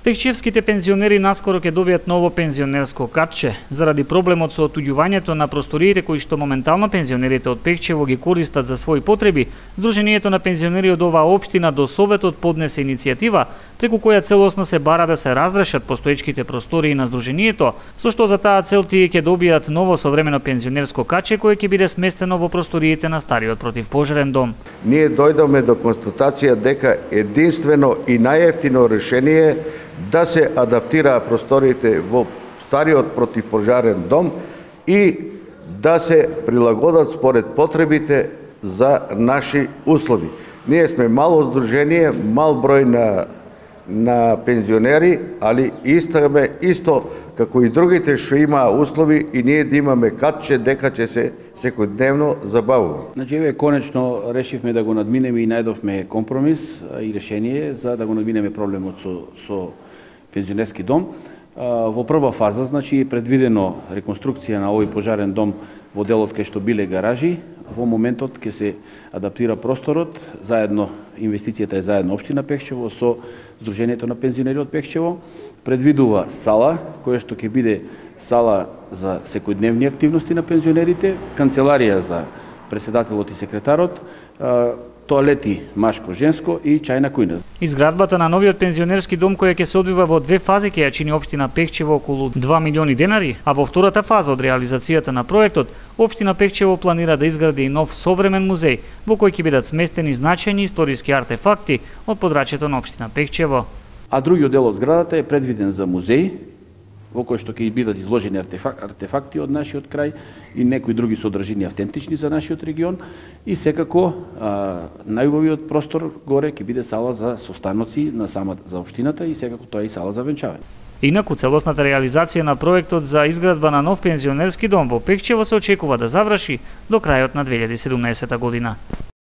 Пекчевските пензионери наскоро ќе добијат ново пензионерско катче. Заради проблемот со отуѓувањето на просториите кои што моментално пензионерите од Пекчево ги користат за своји потреби, Сдруженијето на пензионери од оваа општина до Советот поднесе иницијатива преку која целосно се бара да се разрешат постоечките простории на Сдруженијето, со што за таа цел тие ќе добијат ново современо пензионерско катче кое ќе биде сместено во просториите на стариот противпожарен дом. Ние дојдоме до констатација дека единствено и најевтино решение да се адаптираа просториите во стариот противпожарен дом и да се прилагодат според потребите за наши услови. Ние сме мало здружение, мал број на пензионери, али искаме исто како и другите што имаа услови и ние да имаме катче дека ќе се секојдневно забавува. Значи, еве конечно решивме да го надминеме и најдовме компромис и решение за да го надминеме проблемот со пензионерски дом. Во прва фаза, значи, е предвидено реконструкција на овој пожарен дом во делот кај што биле гаражи. Во моментот ќе се адаптира просторот, заедно инвестицијата е заедно општина Пекчево со Сдруженијето на пензионери од Пекчево. Предвидува сала, која што ќе биде сала за секојдневни активности на пензионерите, канцеларија за претседателот и секретарот, тоалети машко-женско и чајна кујна. Изградбата на новиот пензионерски дом која ќе се одвива во две фази ќе ја чини општина Пекчево околу 2 милиони денари, а во втората фаза од реализацијата на проектот, општина Пекчево планира да изгради и нов современ музеј во кој ќе бидат сместени значајни историски артефакти од подрачјето на општина Пекчево. А другиот дел од зградата е предвиден за музеј, во кој што ќе бидат изложени артефакти од нашиот крај и некои други содржини автентични за нашиот регион и секако најубавиот простор горе ќе биде сала за состаноци на самата за општината и секако тоа е и сала за венчавање. Инаку целосната реализација на проектот за изградба на нов пензионерски дом во Пекчево се очекува да заврши до крајот на 2017 година.